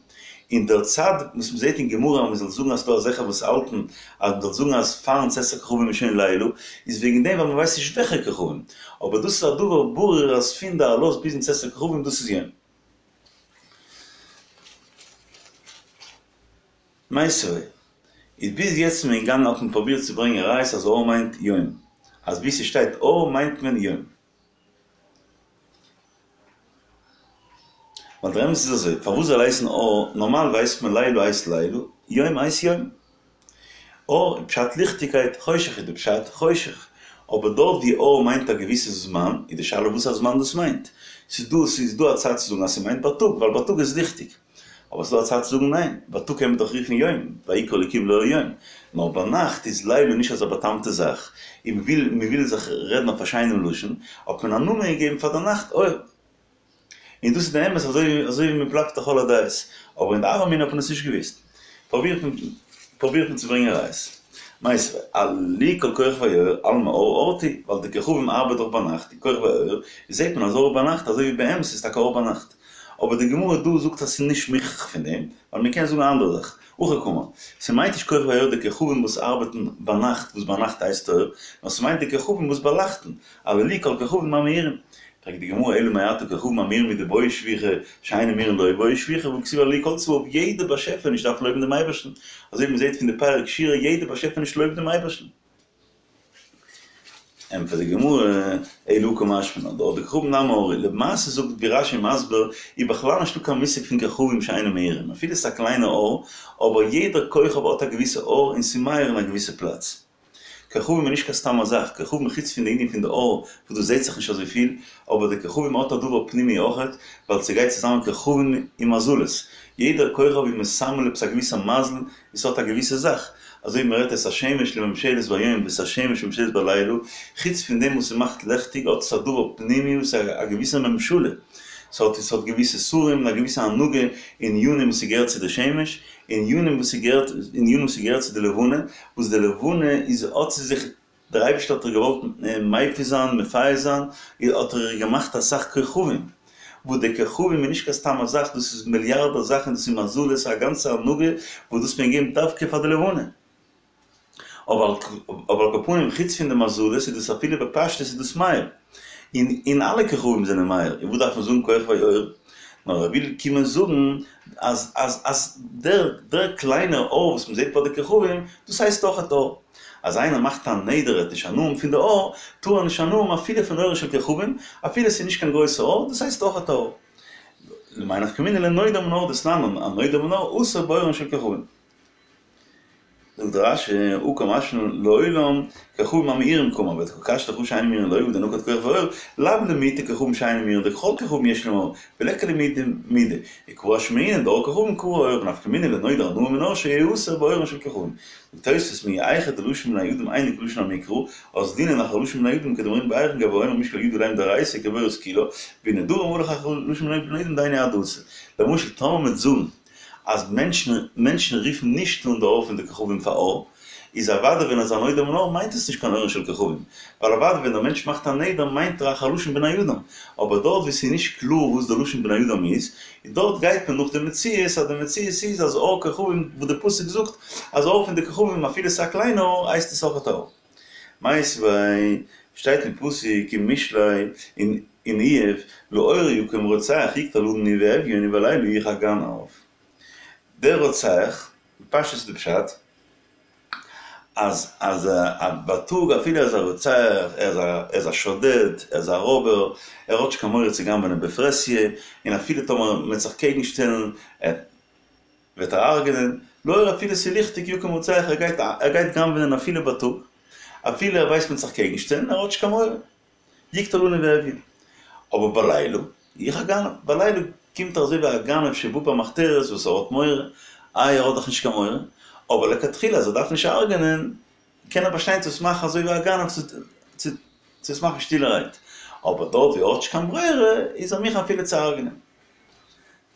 און דער צד וואס מ'זעט אין גמרא אז מ'זאל זאגן אז ס'דא אזעלכע וואס האלטן אז מ'זאל זאגן אז פארן צאת הכוכבים איז שוין לילה, איז וועגן דעם ווייל מ'ווייסט נישט וועלכע כוכבים, אבער דאס איז א דבר ברור אז פון די עלות ביזן צאת הכוכבים דאס איז יום. מיתיבי, איז ביז יעצט איז מען געגאנגען האט מען פרובירט צו ברענגען ראיות אז אור מיינט יום, אז ווי ס'שטייט אור מיינט מען יום. ווייל דער אמת איז אזוי, פארוואס זאל הייסן אור, נארמאל ווייסט מען לילה הייסט לילה, יום הייסט יום. אור איז פשט ליכטיגקייט, חושך איז די פשט חושך. אבער דארט ווי אור מיינט א געוויסע זמן, איז די שאלה וואס א זמן דאס מיינט. ס'איז דא ס'איז דא א צד צו זאגן אז ס'מיינט בייטאג, ווייל בייטאג איז ליכטיג. אבער ס'דא א צד צו זאגן ניין, בייטאג קען מען דאך רופן יום, ויקרא אלקים לאור יום, נאר ביינאכט איז לילה נישט אזא באטאמטע זאך, און מ'וויל מ'וויל זיך רעדן אויף א שיינעם לשון, האט מען א נאמען געגעבן פאר די נאכט אור. און דאס איז די אמת אזוי אזוי ווי מ'בלייבט לכל הדעות, אבער אין די הוה אמינא האט מען עס נישט געוואוסט. פרובירט מען פרובירט מען צו ברענגען ראיות. מיתיבי, עללו כל כוכבי אור, אלמא אור אורתו, ווייל די כוכבים ארבעט דאך ביינאכט, און כוכבי אור, זעט מען אז אור ביינאכט, אזוי ווי באמת איז טאקע אור ביינאכט. אבער די גמרא דא זאגט אז ס'איז נישט מוכרח פון דעם, ווייל מ'קען זאגן א אנדערע זאך, הכי קאמר, ס'מיינט נישט כוכבי אור די כוכבים וואס ארבעטן ביינאכט וואס ביינאכט הייסט אור, נאר ס'מיינט די כוכבים וואס באלייכטן, הללו כל כוכבים המאירים. פרעגט די גמרא אלא מעתה כוכבים המאירים הוא דבעי שבוחא, שאינן מאירין לא בעי שבוחא, והכתיב הללו כל צבאיו, יעדע באשעפעניש דארף לויבן דעם אייבערשטן, אזוי ווי מ'זעט פון די פרק שירה יעדע באשעפעניש לויבט דעם אייבערשטן. ענטפערט די גמרא, אלא הא קא משמע לן, דארט דכוכבים נמי אור, למעשה זאגט ווי רש"י מסביר, איז בכלל נישטא קיין מושג פון כוכבים שאינם מאירים, אפילו ס'איז א קליינע אור, אבער יעדער כוכב האט א געוויסע אור און ס'איז מאיר אין א געוויסע פלאץ. כוכבים איז נישט קיין סתם א זאך, כוכבים חוץ פון די ענין פון די אור וואס דאס זעהט זיך נישט אזוי פיל, אבער די כוכבים האט א דבר פנימי אויכעט, ווייל ס'גייט צוזאמען כוכבים און מזלות, יעדער כוכב איז מסמל עפעס א געוויסע מזל און ס'האט א געוויסע זאך, אזוי ווי מ'רעדט את השמש לממשלת ביום ואת השמש לממשלת בלילה, חוץ פון דעם וואס ס'מאכט לעכטיג האט עס א דבר פנימי וואס איז א געוויסע ממשלה. ס'האט ס'האט געוויסע שרים און א געוויסע הנהגה אין ענינים וואס ס'געהערט צו די שמש, און ענינים וואס ס'געהערט ענינים וואס ס'געהערט צו די לבנה, וואס די לבנה איז האט צו זיך דער אייבערשטער האט איר געוואלט מפיס זיין, מפייס זיין, האט ער איר געמאכט אסאך כוכבים, וואס די כוכבים איז נישט קיין סתם א זאך, דאס איז מיליארדער זאכן, דאס איז מזלות, א גאנצע הנהגה וואס דאס מען געבן דווקא פאר די לבנה. אבער על כל פנים חוץ פון די מזלות איז דאס אפילו בפשטות איז דאס מאיר, און און אלע כוכבים זענען מאיר, און וואס דארף מען זאגן כוכבי אור? נאר ער וויל קומען זאגן אז אז אז דער דער קליינער אור וואס מען זעט ביי די כוכבים דאס הייסט אויכעט אור. אז איינער מאכט א נדר ער וועט נישט הנאה האבן פון די אור, טאר ער נישט הנאה האבן אפילו פון אורה של כוכבים, אפילו עס איז נישט קיין גרויסע אור, דאס הייסט אויכעט אור. למאי נפקא מינה לנודר מן האור דתנן, הנודר מן האור אסור באורן של כוכבים. זאגט רש"י, הא קא משמע לן לעולם כוכבים המאירים קאמר, ודקא קשיא לך הא שאין מאירין לא והא דנקט כוכבי אור, לאו למעוטי כוכבים שאינם מאירין דכל כוכבים יש להם אור, וליכא למעוטי מידי, וקא אשמעינן דאור כוכבים קרוי אור, ונפקא מינה לנודר הנאה מן האור שיהא אסור באורן של כוכבים. זאגט תוספות מיהא היכא דלשון בני אדם אינו כלשון המקרא, אזלינן אחר לשון בני אדם כדאמרינן בערכין גבי האומר משקל ידי עליהם דאורייתא כבורת כולה, ונדרים הלך אחר לשון בני אדם דהיינו עד דאתא. למשל טאמער מ'וועט זאגן אז מענטשן מענטשן רופן נישט אן די אור פון די כוכבים פאר אור, איז אוודאי ווען ער איז א נודר מן האור מיינט עס נישט קיין אורן של כוכבים, ווייל אוודאי ווען דער מענטש מאכט א נדר מיינט ער אחר לשון בני אדם, אבער דארט וואו ס'איז נישט קלאר וואס די לשון בני אדם איז, דארט גייט מען נאך די מציאות אז די מציאות איז אז אור כוכבים וואס די פסוק זאגט אז אור פון די כוכבים אפילו ס'איז א קליינע אור הייסט עס אויכעט אור. מיתיבי, שטייט אין פסוק אין משלי אין אין איוב, לאור יקום רוצח יקטל עני ואביון ובלילה יחר גנב. דער רוצח, בפשטות איז די פשט, אז אז בייטאג אפילו ער איז א רוצח, ער איז א ער איז א שודד, ער איז א רויבער, ער האט נישט קיין מורא צו גנב'נען בפרהסיא, און אפילו טאמער מ'וועט זיך קעגן שטעלן, וועט ער הרג'נען, לאור אפילו ס'איז ליכטיג יקום רוצח, ער גייט ער גייט גנב'נען אפילו בייטאג, אפילו ער ווייסט מ'וועט זיך קעגן שטעלן, ער האט נישט קיין מורא. יקטל עני ואביון. אבער בלילה, יחר גנב, בלילה קומט ער אזוי ווי א גנב שבא במחתרת וואס ער האט מורא, איי ער האט דאך נישט קיין מורא, אבער לכתחילה אז ער דארף נישט הרג'נען, קען ער באשטיין צו עס מאכן אזוי ווי א גנב צו עס מאכן שטילערהייט, אבער דארט ווי ער האט נישט קיין ברירה איז ער מוכן אפילו צו הרג'נען.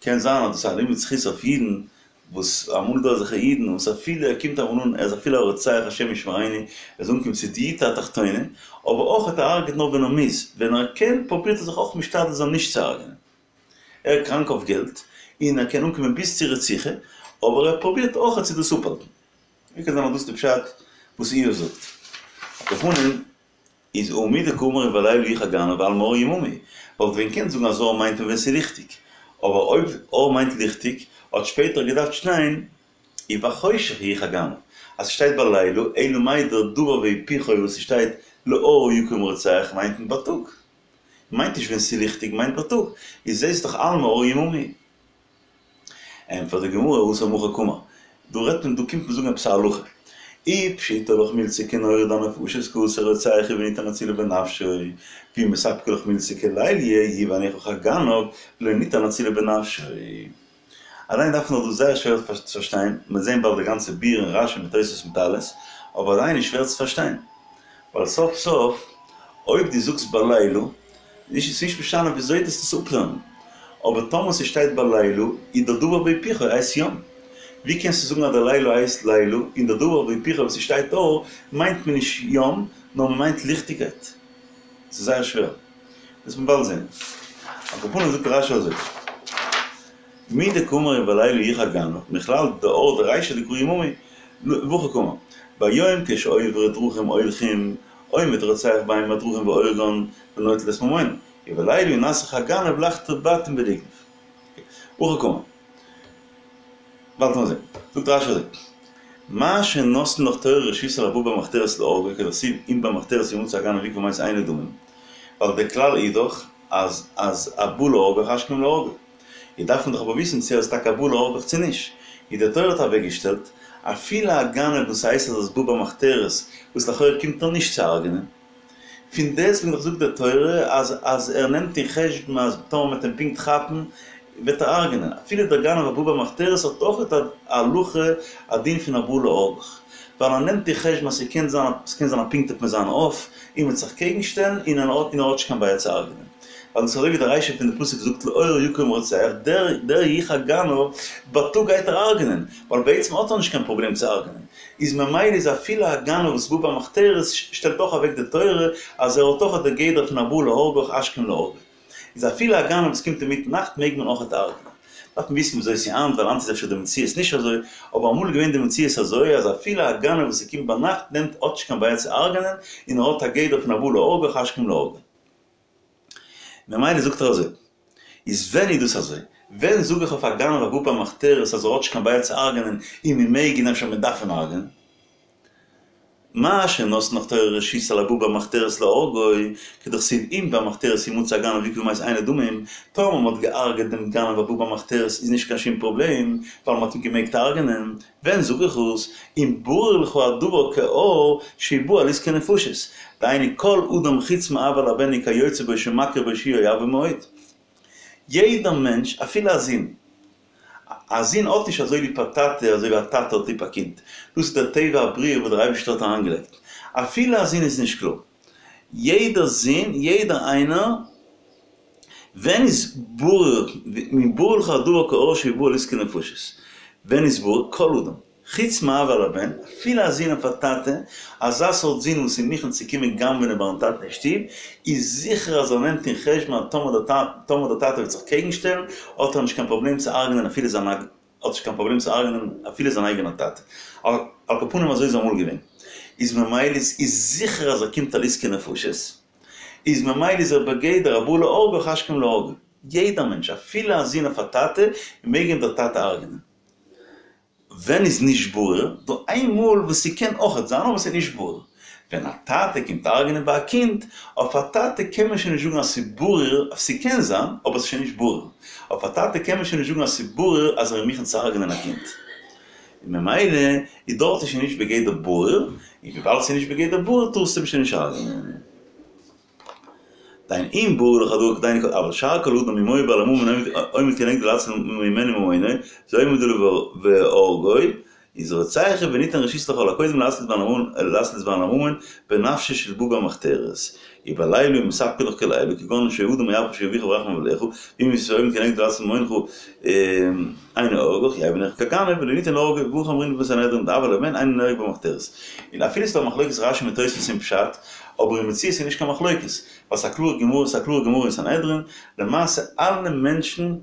קען זיין אז דאס איז א לימוד זכות אויף אידן, וואס אמאל איז דא אזעלכע אידן וואס אפילו ער קומט אמאל אן, ער איז אפילו א רוצח השם ישמרינו, ער איז אנגעקומען צו דיוטא התחתונה, אבער אויך ער הרג'ט נאר ווען ער מוז, ווען ער קען פרובירט ער זיך אויך משתדל זיין נישט צו הרג'נען. ער איז קראנק אויף געלט, און ער קען אנקומען ביז צו רציחה, אבער ער פרובירט אויך צו דאס אפהאלטן. ווי קען זיין אז דאס איז די פשט וואס איוב זאגט? על כל פנים. איז הא מדקאמר ובלילה יחר גנב אלמא אור יממא, וואלט ווען געקענט זאגן אז אור מיינט מען ווען ס'איז ליכטיג, אבער אויב אור מיינט ליכטיג האט שפעטער געדארפט שטיין ובחושך יחר גנב, אז ס'שטייט בלילה, אלא מאי דער דבר והיפוכו וואס ס'שטייט לאור יקום רוצח מיינט מען בייטאג, מיינט נישט ווען ס'איז ליכטיג מיינט בייטאג, איז זעסט דאך אלמא אור יממא. ענטפערט די גמרא התם הכי קאמר, דא רעדט מען דא קומט מען זאגן עפעס א הלכה, אי פשיטא לך מילתא כנהורא דנפשות כי אתי רוצח הוא וניתן להצילו בנפשו, ואי מספקא לך מילתא כליליא יהיו עיניך כגנב ולא ניתן להצילו בנפשו. אליין דארף מען דאך דאס זייער שווער צו פארשטיין, מ'וועט זען באלד די גאנצע ביאור אין רשי מיט תוס' מיט אלעס, אבער עדיין איז שווער צו פארשטיין, ווייל סוף סוף אויב דו זאגסט בלילה נישט ס'איז נישט משנה וויאזוי דו וועסט עס אפלערנען, אבער טאמער ס'שטייט בלילה איז דער דבר והיפוכו הייסט יום. ווי קענסטו זאגן אז דער לילה הייסט לילה און דער דבר והיפוכו וואס ס'שטייט אור מיינט מען נישט יום נאר מ'מיינט ליכטיגקייט? ס'איז זייער שווער. וועסט מען באלד זען. על כל פנים זאגט רשי אזוי. מדקאמר ובלילה יחר גנב, מכלל דאור דרישא דקרי יממא, והכי קאמר, ביום כשעוברי דרכים הולכים, עומד רוצח בין הדרכים והורגן ונוטל את ממונם, ובלילה נעשה כגנב לחדור בתים ולגנוב. הכי קאמר. באלד וועט מען זען. זאגט רשי אזוי, מה שנתנה לך תורה רשות על הבא במחתרת להורגו כדכתיב אם במחתרת ימצא הגנב יקבור מת אינו דמים, ווייל דער כלל איז דאך אז אז הבא להורגך השכם להורגו. איז דארף מען דאך אבער וויסן צו ער איז טאקע א בא להורגך צו נישט. איז די תורה האט אוועקגעשטעלט, אפילו א גנב וואס הייסט אז ער איז בא במחתרת, וואס לכאורה קומט ער נישט צו הרג'נען, פון דעסטוועגן דאך זאגט די תורה אז אז ער נעמט אין חשבון אז טאמער מ'וועט אים פונקט כאפן וועט ער הרג'נען, אפילו דער גנב הבא במחתרת האט אויך א הלכה א דין פון הבא להורגך, ווייל ער נעמט אין חשבון אז ס'קען זיין ס'קען זיין אז פונקט וועט מען זיין אויף און מ'וועט זיך קעגן שטעלן און ער האט נישט קיין בעיה צו הרג'נען. ווייל דאס איז אזוי ווי די רישא פון די פסוק זאגט לאור יקום רוצח, דער דער יחר גנב בייטאג גייט ער הרג'נען, ווייל בעצם האט ער נישט קיין פראבלעם צו הרג'נען, איז ממילא איז אפילו א גנב וואס בא במחתרת שטעלט אויך אוועק די תורה אז ער האט אויך די גדר פון הבא להורגך השכם להורגו. איז אפילו א גנב וואס קומט אינמיטן נאכט מעג מען אויכעט הרג'נען. דארף מען וויסן וויאזוי ס'איז היינט ווייל היינט איז אפשר די מציאות נישט אזוי, אבער אמאל איז געווען די מציאות אזוי אז אפילו א גנב וואס ס'קומט ביינאכט נעמט האט נישט קיין בעיה צו הרג'נען און ער האט א גדר פון הבא להורגך השכם להורגו. ממילא זאגט ער אזוי. איז ווען איז דאס אזוי? ווען זאג איך אויף א גנב הבא במחתרת אז ער האט נישט קיין בעיה צו הרג'נען און מ'מעג און אפשר מ'דארף אים הרג'נען? מה שנתנה לך תורה רשות על הבא במחתרת להורגו, כדכתיב אם במחתרת ימצא הגנב והוכו ומת אינו דמים, טאמער מ'האט געהארגעט דעם גנב הבא במחתרת איז נישט קיין שום פראבלעם, ווייל מ'האט אים געמעגט הרג'נען, ווען זאג איך עס, אם ברור לך הדבר כאור שהוא בא על עסקי נפשות, דהיינו כל אדם חוץ מאב על הבן וכיוצא בו שמכיר בו שהוא אוהבו מאוד. יעדער מענטש, אפילו א זון, א זון האט נישט אזוי ליב א טאטע אזוי ווי א טאטע האט ליב א קינד, דאס איז דער טבע הבריאה וואס דער אייבערשטער האט אריינגעלייגט, אפילו א זון איז נישט קלאר, יעדער זון, יעדער איינער, ווען איז ברור, אם ברור לך הדבר כאור שהוא בא על עסקי נפשות, ווען איז ברור, כל אדם. חוץ מאב על הבן, אפילו א זון אויף א טאטע, אזא סארט זון וואס איז מוכן צו קומען גנב'נען ביים טאטן אין שטוב, איז זיכער אז ער נעמט אין חשבון אז טאמער דער טאטע וועט זיך קעגן שטעלן, האט ער נישט קיין פראבלעם צו הרג'נען אפילו זיין האט נישט קיין פראבלעם צו הרג'נען אפילו זיין אייגענער טאטע. על כל פנים אזוי איז אמאל געווען. איז ממילא איז זיכער אז ער קומט על עסקי נפשות, איז ממילא איז ער בגדר הבא להורגך השכם להורגו. יעדער מענטש, אפילו א זון אויף א טאטע, מעג אים דער טאטע הרג'נען. ווען איז נישט ברור? דא איין מאל וואס ס'קען אויכעט זיין אבער ס'איז נישט ברור. ווען א טאטע קומט הרג'נען ביי א קינד, אויף א טאטע קען מען שוין נישט זאגן אז ס'איז ברור, ס'קען זיין, אבער ס'איז שוין נישט ברור. אויף א טאטע קען מען שוין נישט זאגן אז ס'איז ברור אז ער איז מוכן צו הרג'נען א קינד. און ממילא איז דארט איז שוין נישט בגדר ברור, און וויבאלד ס'איז נישט בגדר ברור טארסטו אים שוין נישט הרג'נען. דהיינו אם ברור לך הדבר דהיינו כל אבל שאר כל אדם אם היה בעל הממון עומד כנגדו להציל ממנו ממונו זה עומד עליו והורגו איז רוצח הוא וניתן רשות לכל הקודם להצליט בעל הממון בנפשו של בא במחתרת ובלילה אם מספקא לך כלילה כגון שאדם אוהבך שהוא אביך ורחמיו עליך ואם עומד כנגדו להציל ממונך אינו הורגך יהא בעיניך כגנב ולא ניתן להורגו והכי אמרינן בסנהדרין דאב על הבן אינו נהרג במחתרת און אפילו ס'איז דא א מחלוקת רש"י מיט תוספות אין פשט אבער אין מציאות איז נישט קיין מחלוקת, ווייל ס'איז א קלארע גמרא, ס'איז א קלארע גמרא אין סנהדרין, למעשה אלע מענטשן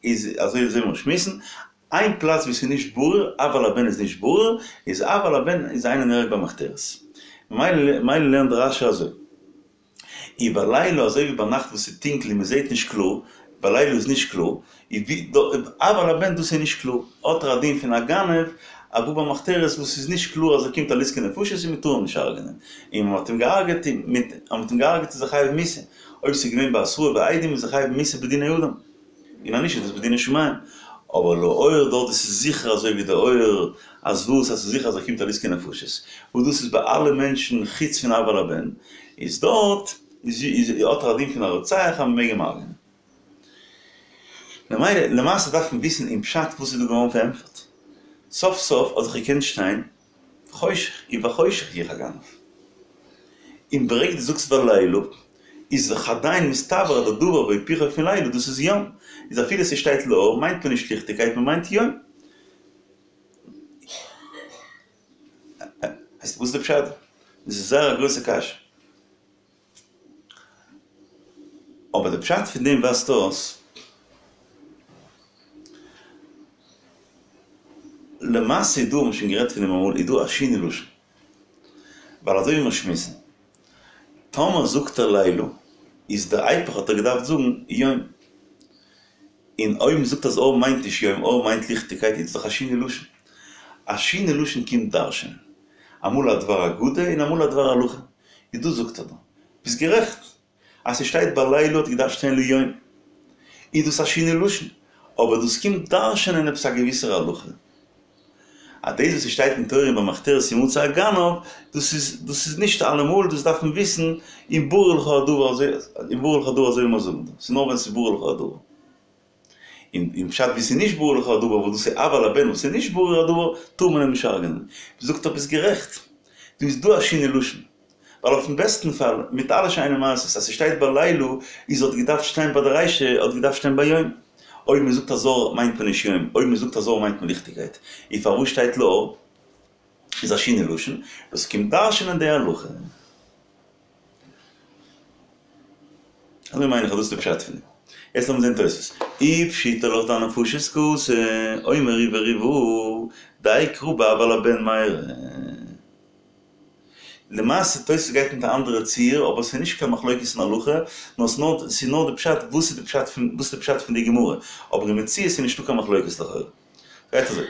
איז אזוי אזוי מיר שמועסן, איין פלאץ ווי ס'איז נישט ברור, אב על הבן איז נישט ברור, איז אב על הבן איז אינו נהרג במחתרת. ממילא ממילא לערנט רש"י אזוי. ובלילה אזוי ווי ביינאכט וואס ס'איז טונקל און מ'זעט נישט קלאר, בלילה איז נישט קלאר, אב על הבן דאס איז נישט קלאר, האט ער א דין פון א גנב, א בא במחתרת וואס איז נישט קלאר אז ער קומט על עסקי נפשות און מ'טאר אים נישט הרג'נען, און מ'האט אים געהארגעט און מיט אז מ'האט אים געהארגעט איז ער חייב מיתה, אויב ס'איז געווען בהתראה ועדים איז ער חייב מיתה בדיני אדם, און אז נישט איז דאס בדיני שמים, אבער לאור דארט איז עס זיכער אזוי ווי די אור אז וואס אז ס'איז זיכער אז ער קומט על עסקי נפשות, וואס דאס איז ביי אלע מענטשן חוץ פון אב על הבן, איז דארט איז האט ער א דין פון א רוצח אז מ'מעג אים הרג'נען. ממילא למעשה דארף מען וויסן אין פשט וואס איז דא געווארן פארענטפערט. סוף סוף האט זיך געקענט שטיין חושך ובחושך יחר גנב. און ברגע דו זאגסט בלילה איז דאך עדיין מסתבר אז דער דבר והיפוכו פון לילה דאס איז יום. איז אפילו ס'שטייט לאור מיינט מען נישט ליכטיגקייט מ'מיינט יום. וואס איז די פשט? דאס איז זייער א גרויסע קשיא. אבער די פשט פון דעם ווייזט אויס, למעשה איז דא, האבן מיר שוין גערעדט פון דעם אמאל, איז דא א שינוי לשון. ווייל אזוי ווי מיר שמועסן, טאמער זאגט ער לילה, איז די היפך האט ער געדארפט זאגן יום. און אויב מ'זאגט אז אור מיינט נישט יום, אור מיינט ליכטיגקייט, איז דאך א שינוי לשון. א שינוי לשון קומט דרש'ענען. אמאל א דבר אגדה און אמאל א דבר הלכה. איז דאס זאגט ער דא. ביסט גערעכט. אז ס'שטייט בלילה האט געדארפט שטיין ליום. איז דאס א שינוי לשון. אבער דאס קומט דרש'ענען עפעס א געוויסער הלכה. אז דאס וואס ס'שטייט אין תורה במחתרת ימצא הגנב, דאס איז דאס איז נישט אלעמאל, דאס דארף מען וויסן, אם ברור לך הדבר אזוי, אם ברור לך הדבר אזוי ווי מיר זאגן דא, ס'איז נאר ווען ס'איז ברור לך הדבר. און אין פשט ווי ס'איז נישט ברור לך הדבר, וואס דאס איז אב על הבן וואס איז נישט ברור הדבר, טאר מען אים נישט הרג'נען. זאגט ער ביסט גערעכט, דא איז דא א שינוי לשון. ווייל אויפן בעסטן פאל, מיט אלע שיינע מעשות, אז ס'שטייט בלילה, איז האט געדארפט שטיין ביי די רישא, האט געדארפט שטיין ביום. אויב מ'זאגט אז אור מיינט מען נישט יום, אויב מ'זאגט אז אור מיינט מען ליכטיגקייט, איז פארוואס שטייט לאור? איז א שינוי לשון, דאס קומט דרש'נען די הלכה. אזוי מיין איך אז דאס איז די פשט פון דעם. יעצט לאמיר זען תוספות. אי פשיטא לך דאנפשות קאתי, אומר ריבה ריבה, דיקרא באב על הבן מיירי. למעשה תוספות גייט מיט א אנדערע ציור, אבער ס'איז נישט קיין מחלוקת אין הלכה, נאר ס'איז נאר די פשט וואס איז די פשט פון וואס איז די פשט פון די גמרא, אבער אין מציאות איז נישטא קיין מחלוקת לכאורה. גייט אזוי,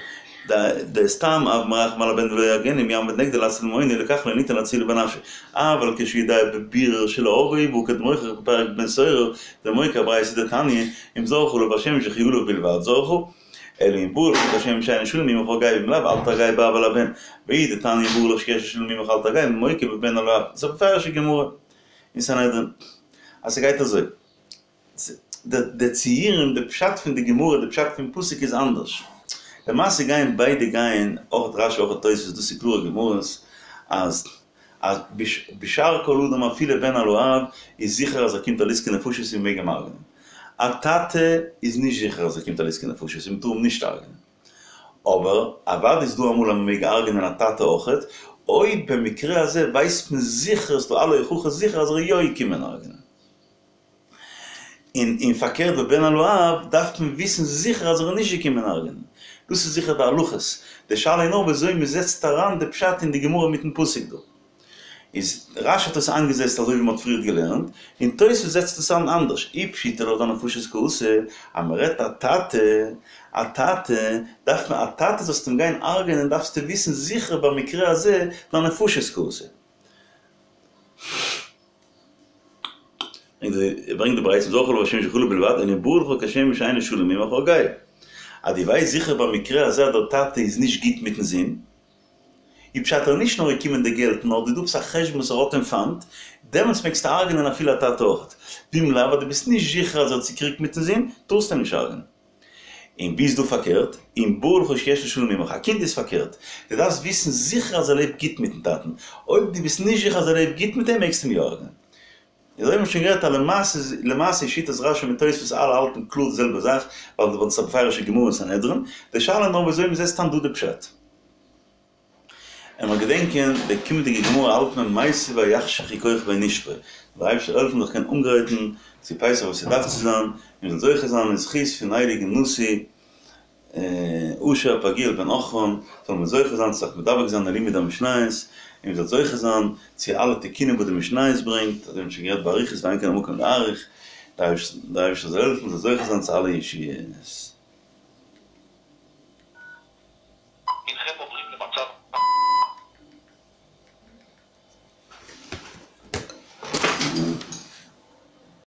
דסתם אב מרחם על הבן ולא יהרגנו אם יעמוד נגדו להציל ממונו לכך לא ניתן להצילו בנפשו אבל כשיודע בבירור שלהורגו הוא בא כדמוכיח בפרק בן סורר ומוקי אברייתא דתניא אם זרחה עליו השמש וכי עליו בלבד זרחה אלא אם ברור לך כשם שאינו שלם עמך הרגהו ואם לאו אל תהרגהו באב על הבן ואי דתניא אם ברור לך שיש שלם עמך אל תהרגהו מוקי בבן על האב ס'איז א מפורש'ע גמרא אין סנהדרין אז ס'גייט אזוי. די ציורים, די פשט פון די גמרא, די פשט פון פסוק איז אנדערש. למעשה גייען ביידע גייען, אויך רשי אויך תוספות, דאס איז קלארע גמרות, אז אז בשאר כל אדם אפילו בן על האב, איז זיכער אז ער קומט על עסקי נפשות און מ'מעג אים הרג'נען. א טאטע איז נישט זיכער אז ער קומט על עסקי נפשות און מ'טאר אים נישט הרג'נען. אבער אוודאי איז דא אמאל אז מ'מעג הרג'נען א טאטע אויכעט, אויב במקרה הזה ווייסט מען זיכער, ס'דא אלע הוכחות זיכער אז ער איז יא געקומען הרג'נען. און און פארקערט ביי בן על האב דארף מען וויסן זיכער אז ער איז נישט געקומען הרג'נען. דאס איז זיכער די הלכות. די שאלה איז נאר וויאזוי מען זעצט אריין די פשט אין די גמרא מיטן פסוק דא. איז רשי האט עס איינגעזעצט אזוי ווי מען האט פריערט געלערנט, און תוספות זעצט עס איין אנדערש. אי פשיטא לך דאנפשות קאתי, אז מען רעדט א טאטע, א טאטע, דארף מען א טאטע זאלסט אים גיין הרג'נען דארפסטו וויסן זיכער במקרה הזה דאנפשות קאתי. ברענגט די ברייתא זרחה עליו השמש וכי עליו בלבד אלא אם ברור לך כשם שאינו שלם עמך הרגהו. אז דו ווייסט זיכער במקרה הזה אז דער טאטע איז נישט גוט מיטן זון, איז פשט ער איז נישט נאר געקומען די געלט נאר דא עפעס א חשבון וואס ער האט אים פיינט, דעמאלטס מעגסטו הרג'נען אפילו א טאטע אויכעט. ואם לאו אז דו ביסט נישט זיכער אז ער האט צוקריגט מיטן זון, טארסטו אים נישט הרג'נען. און ווי איז דא פארקערט? אם ברור לך שיש לו שלום עמך, א קינד איז פארקערט, דו דארפסט וויסן זיכער אז ער לעבט גוט מיטן טאטן, אויב דו ביסט נישט זיכער אז ער לעבט גוט מיט אים מעגסטו אים יא הרג'נען. אזוי האבן מיר שוין גערעדט אז למעשה למעשה איז שיטת רשי מיט תוספות אלע האלטן קלאר די זעלבע זאך, ווייל ווייל ס'איז א מפורש'ע גמרא אין סנהדרין, די שאלה איז נאר וויאזוי מ'זעצט איין דא די פשט. און מיר געדענקען די קומענדיגע גמרא האלט מען מיתיבי ויחשכו כוכבי נשפו, זאל דער אייבערשטער העלפן זיך קענען אנגרייטן צו פסח וואס ס'דארף צו זיין, און מ'זאל זוכה זיין אין זכות פון הייליגן נשיא אשר פגעיאל בן עכרן, זאלן מיר זוכה זיין צו זיך מדבק זיין אין לימוד המשניות, און מ'זאל זוכה זיין צו אלע תיקונים וואס די משניות ברענגט, אזוי ווי מ'האט שוין גערעדט באריכות ואין כאן המקום להאריך, דער אייבערשטער זאל העלפן מ'זאל זוכה זיין צו אלע ישועות. הנכם עוברים למצב.